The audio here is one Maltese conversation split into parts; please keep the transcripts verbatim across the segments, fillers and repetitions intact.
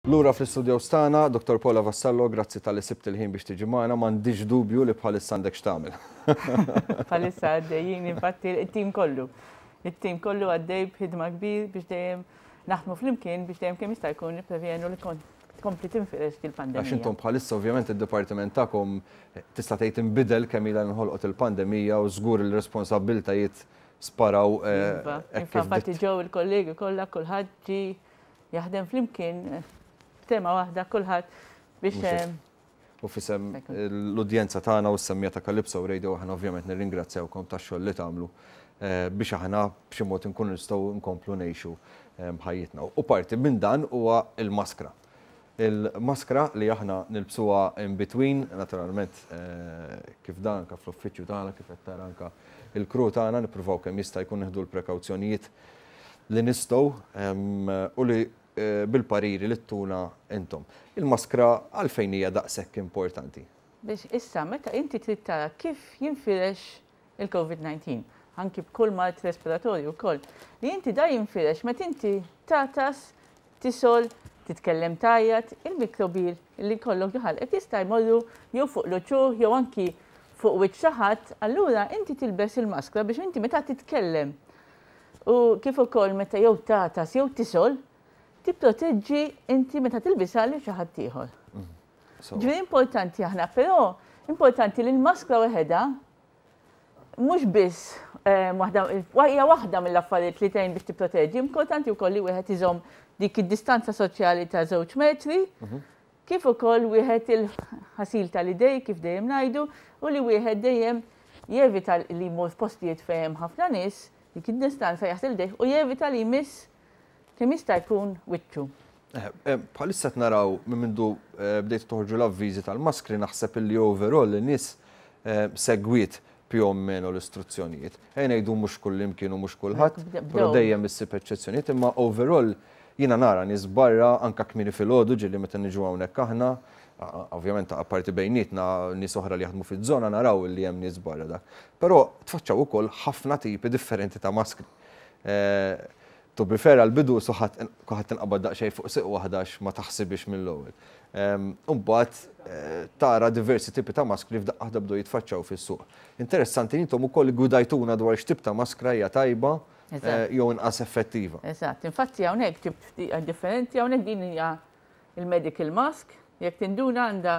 Lura fl-istudio tagħna, Dottor Paula Vassallo, grazzi talli sibt il-ħin biex tiġi magħna, m'għandix dubju li bħalissa għandek x'tagħmel. Bħalissa għaddejjin, infatti it-tim kollu. It-tim kollu għaddej b'ħidma kbir biex dejjem naħdmu flimkien biex dejjem kemm jista' jkun nipprevjenu li tkompli tinfirex il-pandemija. Għax intom bħalissa ovvjament id-dipartiment tagħkom tista' tgħid inbidel kemm ilha nħolqot il-pandemija u żgur il-responsabbiltajiet sparaw. Eh, infatti ġew il-kollegi kollha, kulħadd ġie jaħdem flimkien tema waħda kulħadd biex eh, U f'isem l-udjenza tagħna u s-semmiegħa ta' Calypso Radio, aħna ovvjament nirringrazzjawkom tax-xogħol li tagħmlu eh, biex aħna b'xi mod inkunu nistgħu nkomplu ngħixu eh, ħajjitna. U parti minn dan huwa il-maskra. Il-maskra li aħna nilbsuha in between, naturalment kif dan anka fl-uffiċċju tagħna, kif qed tara anka il-crew tagħna, nippruvaw kemm jista' jkun nieħdu l-prekawzjonijiet li nistgħu u li Eh, bil-pariri li ttuna intom. Il-maskra għalfejn hija daqshekk importanti? Biex issa meta inti trid tara kif jinfirex il-COVID disa-, anki b'kull mard respiratorju wkoll, li inti da jinfirex meta inti tagħtas, tisgħol, titkellem tgħajjat, il-mikrobi li jkollok ġo ħalqek jista' jmorru jew fuq l-uċuħ jew anki fuq wiċċ xi ħadd, allura inti tilbes il-maskra biex inti meta titkellem u kif ukoll meta jew tagħtas jew tisgħol, tipproteġġi inti meta tilbisha lil xi ħadd ieħor. Mm. Ġifieri importanti aħna, però importanti li l-maskra waħedha mhux biss eh, waħda hija waħda mill-affarijiet li tgħin biex tipproteġġi, importanti wkoll li wieħed iżomm dik id-distanza soċjali ta' żewġ metri, mhm. kif ukoll wieħed il-ħasil tal-idej kif dejjem ngħidu u li wieħed dejjem jevita li jmur f'postijiet fejn ħafna nies, dik id-distanza, jaħsel idejh u jevita li jmiss kemm jista' jkun wiċċu. Eh, eh, bħalissa naraw minn mindu eh, bdejt toħorġu l-avviżi tal-maskri, naħseb illi overall in-nies segwiet più o meno l-istruzzjonijiet. Ejja ngħidu mhux kull imkien u mhux kulħadd, però dejjem issib eċċezzjonijiet, imma overall jiena nara nies barra anka kmieni filgħodu ġieli meta niġu hawnhekk aħna, ovvjament apparti bejnietna nies oħra li jaħdmu fiż-żona, naraw li hemm nies barra dak. Però tfaċċaw ukoll ħafna tipi differenti ta' maskri. To be fair, għal-bidu kulħadd inqabad daqsxejn fuq siq waħda ma taħsibix mill-ewwel. Imbagħad eh, tara diversi tipi ta' maskri f'daqqa waħda bdew jitfaċċaw fis-suq. Interessanti, intom ukoll gwidajtuna dwar x'tip ta' maskra hija tajba eh, jew inqas effettiva. Eżatt, infatti hawnhekk tip differenti, hawnhekk din hija il-medical mask, jekk tinduna għandha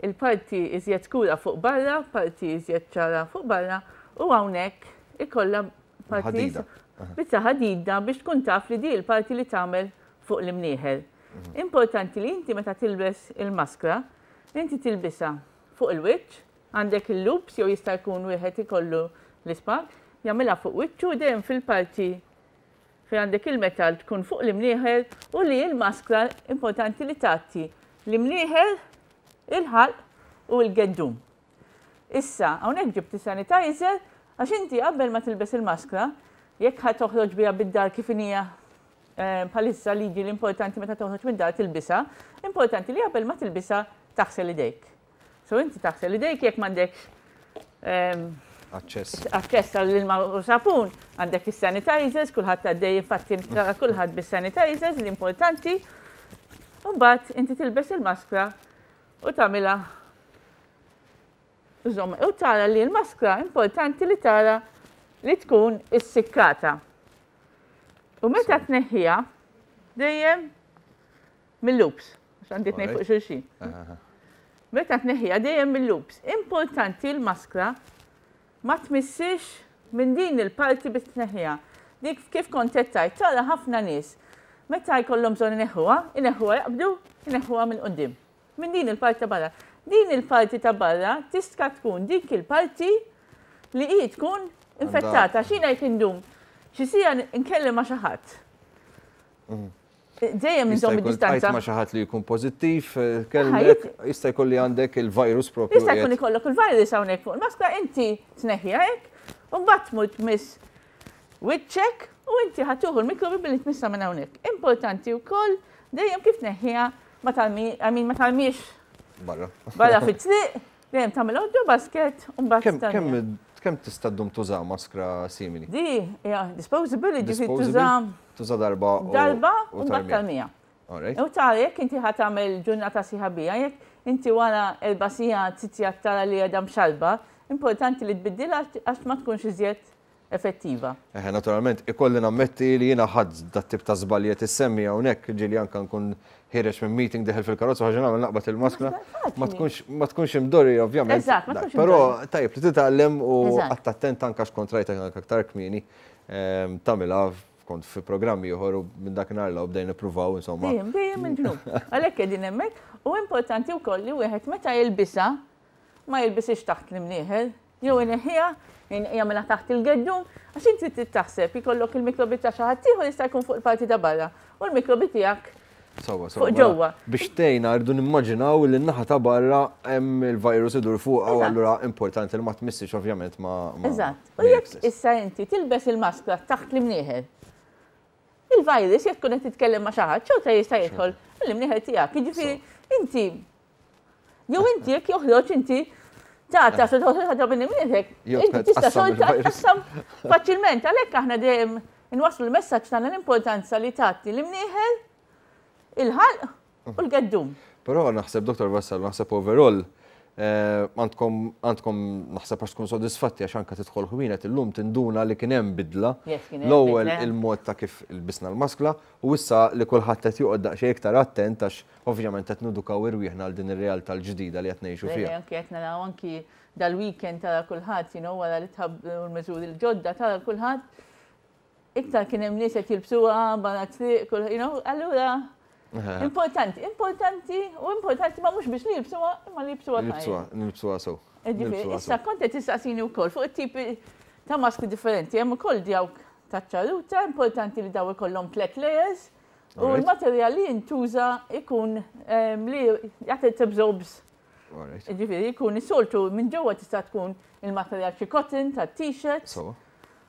il-parti iżjed skura fuq barra, parti iżjed ċara fuq barra, u hawnhekk ikollha parti biċċa ħadida biex tkun taf li di l-parti li tagħmel fuq l-imnieħer. Mhm. Importanti li inti meta tilbes il-maskra, inti tilbisha fuq il-wiċċ, għandek il-loops jew jista' jkun wieħed ikollu l-ispag, jagħmilha fuq wiċċu dejjem fil-parti fejn għandek il-metal tkun fuq l-imnieħer u li l-maskra importanti li tgħatti l-imnieħer, il-ħalq u l-geddum. Issa, hawnhekk ġibt sanitizer għax inti qabel ma tilbes il-maskra, jekk ħa toħroġ biha bid-dar kif hija eh, bħalissa liġi l-importanti meta toħroġ mid-dar tilbisha, importanti li qabel ma tilbisha taħsel idejk. So inti taħsel idejk jekk m'għandekx ehm, aċċess. Aċċess għall-ilma u sapun, għandek is-sanitizers, kulħadd għaddej, infatti tara kulħadd bis-sanitizers, l-importanti. Mbagħad inti tilbes il-maskra u tagħmilha u tara li l-maskra importanti li tara li tkun issikkata. U meta tneħħiha dejjem mill-loops, għax għandi tnejn fuq xulxin. Meta tneħħiha dejjem mill-loops. Importanti l-maskra ma tmissix minn din il-parti biex tneħħiha. Dik kif kont tgħid, tara ħafna nies. Meta jkollhom bżonn ineħħuha, ineħħuha jaqbdu, ineħħuha minn quddiem. Minn din il-parti ta' barra. Din il-parti ta' barra tista' tkun dik il-parti li hi tkun infettata. Xina jekk indum xi siegħa nkellem ma' xi ħadd. Mhm. Dejjem inżomm id-distanza. Ma' xi ħadd li jkun pożittiv, eh, kellek, jista' jkun li għandek il-virus propju. Jista' jkun ikollok il-virus hawnhekk fuq il-maskra, inti tneħħiha hekk, u mbagħad tmur tmiss wiċċek u inti ħa tieħu l-mikrobi billi tmissa minn hawnhekk. Importanti wkoll dejjem kif tneħħiha ma tarmi, I mean, ma tarmix barra. Barra fit-triq, dejjem tagħmel ġo basket u mbagħad. Kemm kemm tista' ddum tuża maskra simili? Di, hija disposable, ġifieri tuża Tuża darba. Darba u mbagħad tarmiha. Alright. U tara jekk inti ħa tagħmel ġurnata sħiħa biha, jekk inti wara erba' sigħat, sitt sigħat tara li għadha mxalba, importanti li tbiddilha għax ma tkunx iżjed effettiva. Eħe, naturalment, ikolli nammetti li jiena ħadt dat-tip ta' żbalji tissemmi hawnhekk, ġieli anka nkun ħiereġ minn meeting, dieħel fil-karozza, ħaġa nagħmel naqbad il-maskla. Ma tkunx ma tkunx imdorri, ovvjament. Eżatt, ma tkunx Però imdorri. tajjeb li titgħallem u Eżatt. għadt attent anka x'kont rajtek anka aktar kmieni ehm, tagħmilha, kont fi programmi ieħor u minn dakinhar la bdejna nippruvaw, insomma. Dejjem, dejjem il-ġnub. Għalhekk qegħdin hemmhekk u importanti wkoll li wieħed meta jilbisha ma jilbisix taħt l-imnieħer, jew ineħħiha, jagħmilha taħt il-geddum, għax inti trid taħseb ikollok il-mikrobi ta' xi ħadd ieħor jista' jkun fuq il-parti ta' barra u l-mikrobi tiegħek Sewwa, sewwa. fuq Mela, ġewwa. biex tgħinna, rridu nimmaġinaw li n-naħa ta' barra hemm il-virus idur fuq u Eżatt. allura importanti li ma tmissix ovvjament ma' ma' Eżatt. U jekk issa inti tilbes il-maskra taħt l-imnieħer, il-virus jekk tkun qed titkellem ma' xi ħadd, xorta jista' jidħol l-imnieħer tiegħek. Jiġifieri inti jew inti jekk joħroġ inti ta' se toħroġ ħaġa minn imnieħrek, Jew inti tista' tqassam xorta il-virus. tqassam faċilment. Għalhekk aħna dejjem inwasslu l-messaġġ tagħna, l-importanza li tgħatti l-imnieħer, il-ħalq u l-geddum. Però naħseb, Dottor Vassallo, naħseb overall eh, għandkom għandkom naħseb għax tkun sodisfatti għax anka tidħol ħwienet illum tinduna li kien hemm bidla. Yes, kien hemm L-ewwel bidla. il-mod ta' kif ilbisna l-maskla u issa li kulħadd qed joqgħod daqsxejn iktar attent għax ovvjament qed nedukaw irwieħna għal din ir-realtà l-ġdida li qed ngħixu fiha. Anki qed naraw anki dal-weekend tara kulħadd, you know, wara li tħabbru l-miżuri l-ġodda, tara kulħadd iktar kien hemm nies qed jilbsuha barra triq, you know, allura importanti, importanti u importanti ma mhux biex li jilbsuha, imma li jilbsuha tajjeb. Nilbsuha, nilbsuha sew. Ġifieri, Nilbsuha issa sew. kont qed tistaqsini wkoll fuq it-tipi ta' maskri differenti, hemm ukoll dawk ta' ċarruta, importanti li daw ikollhom tliet layers u Alright. l-materjal li jintuża ikun em, li jagħti absorbs. Alright. Ġifieri, jkun is-soltu minn ġewwa tista' tkun il-materjal xi cotton ta' t-shirt, Sewwa.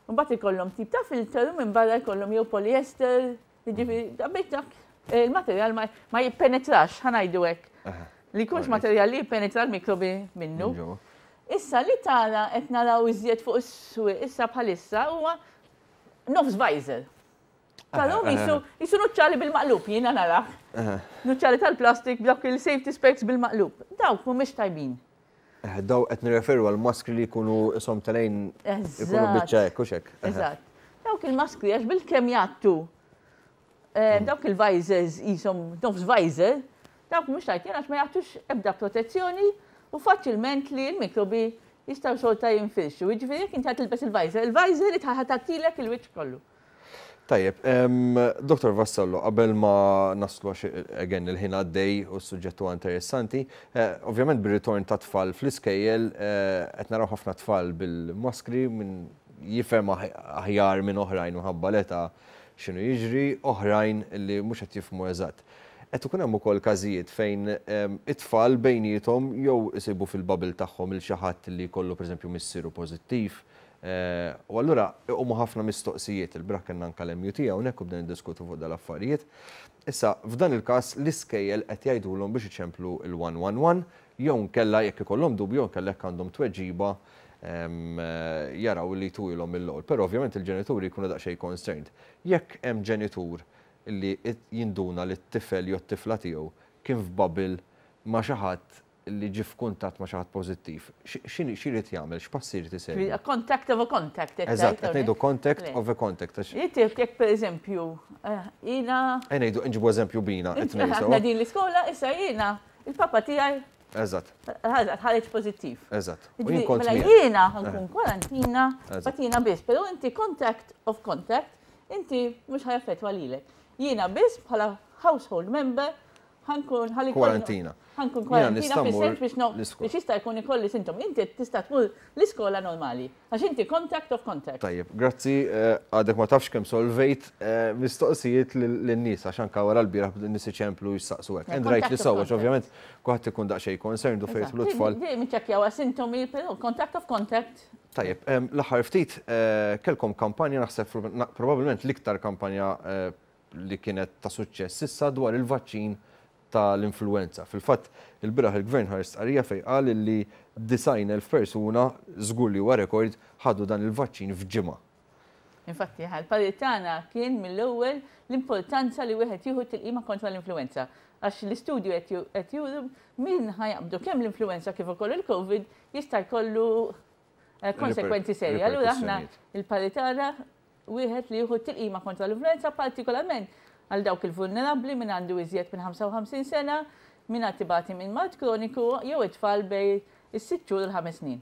u mbagħad ikollhom tip ta' filter u minn barra jkollhom jew polyester, jiġifieri da biex dak il-materjal ma, ma jippenetrax, ħa ngħidu hekk. Aha. Li jkunx Alright. materjal li jippenetra l-mikrobi minnu. Minn ġewwa. Issa li tara qed naraw iżjed fuq is-swieq issa bħalissa huwa nofs visor. Tarahom Aha, jisu jisu nuċċali bil-maqlub, jiena narah. Aha. Nuċċali tal-plastik b'dawk il-safety specs bil-maqlub. Dawk mhumiex tajbin. Eh, Daw qed nirreferu għal maskri li jkunu ishom telgħin, ikunu Eżatt. biċċa hekk u xek. Eżatt. Dawk il-maskri għax bil-kemm jgħattu eh, dawk il-visors jisom nofs visor, dawk mhux tajbin għax ma jagħtux ebda protezzjoni u faċilment li l-mikrobi jistgħu xorta jinfirxu. Jiġifieri jekk inti tilbes il-visor, il-visor li tgħattilek il-wiċċ kollu. Tajjeb, em, Dottor Vassallo, qabel ma naslu għax again il-ħin għaddej u s-suġġett huwa interessanti, eh, ovvjament bir-ritorn ta' tfal fl-iskejjel eh, qed naraw ħafna tfal bil-maskri, minn jifhem aħ- aħjar minn oħrajn minħabba l-età x'inhu jiġri, oħrajn li mhux qed jifhmu eżatt. Qed ikun hemm ukoll każijiet fejn em, it-tfal bejniethom jew isibu fil-bubble tagħhom il xi ħadd li jkollu, pereżempju, missieru pożittiv. Eh, U allura iqumu ħafna mistoqsijiet. Il-bieraħ kellna anke l-M U T hawnhekk u bdejna niddiskutu fuq dal-affarijiet. Issa, f'dan il-każ l-iskejjel qed jgħidulhom biex iċemplu il-one one one jew nkella jekk ikollhom dubju, jew nkella jekk għandhom tweġiba em, eh, jaraw li twilhom mill-ewwel. Però ovvjament il-ġenituri jkunu daqsxejn concerned. Jekk hemm ġenitur li it- jinduna li t-tifel jew t-tifla tiegħu kien f'bubble ma' xi ħadd li ġie f'kuntatt ma' xi ħadd pożittiv, x'inhi x'irid jagħmel, x'passi jrid isegwi? A contact of a contact. Qed Eżatt, tgħid qed ngħidu hawnhekk? contact Le. of a contact. Għax Jitif jekk per eżempju, eh, jiena Ejja ngħidu, nġibu eżempju bina, qed ngħidu aħna sewwa. din l-iskola, issa jiena, il-papa tiegħi Eżatt, ħareġ pożittiv. eżatt. U Ġifieri, jien kont mela miegħek. jiena ħa nkun kwarantina, Eżatt. but jiena biss, però inti contact of contact, inti mhux ħa jaffettwa lilek. Jiena biss bħala household member ħa nkun ħalli Kwarantina. Ħa nkun Jiena kwarantina nista' mmur fis-sens biex no l-iskola. biex jista' jkun ikolli sintomi. Inti tista' tmur l-iskola normali għax inti contact of contact. Tajjeb, grazzi, eh, għadek ma tafx kemm solvejt eh, mistoqsijiet lin-nies għax anka wara l-bieraħ nies iċemplu jistaqsu hekk. Yeah, And rightly contact of so, għax contact. ovvjament kulħadd ikun daqsxejn concerned u fejn jidħlu tfal. Dejjem iċċekkjaw sintomi, però contact of contact. Tajjeb, em, l-aħħar ftit eh, kellkom kampanja, naħseb na- probabbilment l-iktar kampanja eh, li kienet ta' suċċess issa dwar il-vaċċin tal-influenza. Fil-fatt, il-bieraħ il-Gvern ħareġ stqarrija fejn qal li disgħin elf persuna, żgur li huwa rekord, ħadu dan il-vaċċin f'ġimgħa. Infatti, il-parir tagħna kien mill-ewwel l-importanza li wieħed jieħu tilqima kontra l-influenza. Għax l-istudju qed juru min ħa jaqbdu kemm l-influenza kif ukoll il-Covid jista' jkollu eh, konsekwenzi serji. Allura aħna il-parir tagħna wieħed li jieħu tilqima kontra l-influenza, partikolarment għal dawk il-vulnerabbli, min għandu iżjed minn ħamsa u ħamsin sena, min qed ibati minn mard kroniku jew it-tfal bejn is-sitt xhur u l-ħames snin.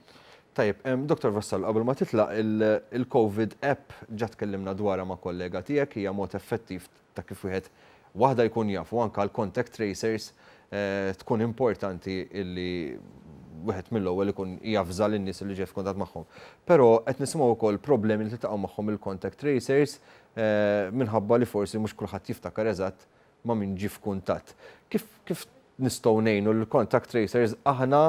Tajjeb, Doktor Vassallo, qabel ma titlaq, il-Covid app ġa tkellimna dwarha ma' kollega tiegħek, hija mod effettiv ta' kif wieħed waħda jkun jaf u anka l-contact tracers eh, tkun importanti illi wieħed mill-ewwel ikun jafża lin-nies li ġie f'kuntatt magħhom. Però qed nisimgħu wkoll problemi li tiltaqgħu magħhom il-contact tracers eh, minħabba li forsi mhux kulħadd jiftakar eżatt ma' min ġie f'kuntatt. Kif kif nistgħu ngħinu l-contact tracers aħna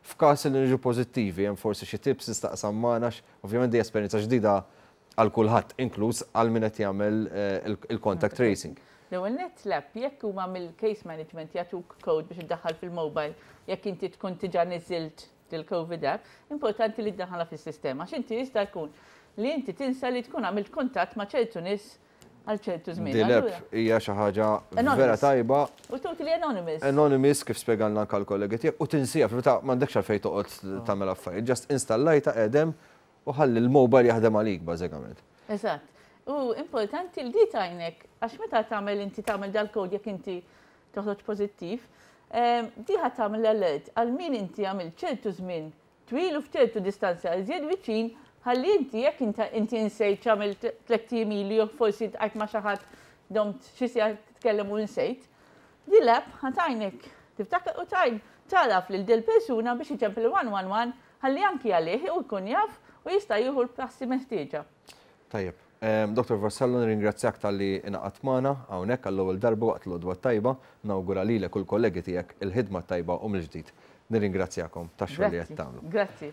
f'każ li niġu pożittivi? Hemm forsi xi tips tistaqsam magħna? Ovvjament di esperjenza ġdida għal kulħadd, inkluż għal min qed jagħmel eh, il-contact tracing. L-ewwel nett, l-app, jekk huma mill-case management jagħtuk code biex iddaħħal fil-mobile, jekk inti tkun diġà niżilt il-COVID app, importanti li ddaħħalha fis-sistema. X'inti jista' jkun li inti tinsa li tkun għamilt kuntatt ma' ċertu nies għal ċertu żmien. Din l-app hija xi ħaġa vera tajba. U totally anonymous. Anonymous, kif spjegalna anke l-kollegi tiegħek, u tinsija fil-verità m'għandekx għalfejn toqgħod tagħmel affarijiet. Just installajtha qegħdem u ħalli l-mobile jaħdem għalik bażikament. Eżatt. U importanti li di tgħinek, għax meta tagħmel inti tagħmel dal-kod, jekk inti toħroġ pożittiv, di ħa tagħmel alert għal min inti għamil ċertu żmien twil u f'ċertu distanza iżjed viċin, ħalli inti jekk inti insejt x'għamil tlett ijiem ilu jew forsi għajt ma' xi ħadd, domt xi siegħa titkellem u nsejt. Di l-app ħa tgħinek tiftakar u tgħin tagħraf lil dil persuna biex iċempel one one one, ħalli anki għalih u jkun jaf u jista' jieħu l-passi meħtieġa. Tajjeb. Doktor Vassallo, nirringrazzjak talli ingħaqadt magħna hawnhekk għall-ewwel darba waqt l-Għodwa Tajba, nawgura lilek u l-kollegi tiegħek il-ħidma tajba u mill-ġdid. Nirringrazzjakom tax-xogħol li qed tagħmlu. Grazzi.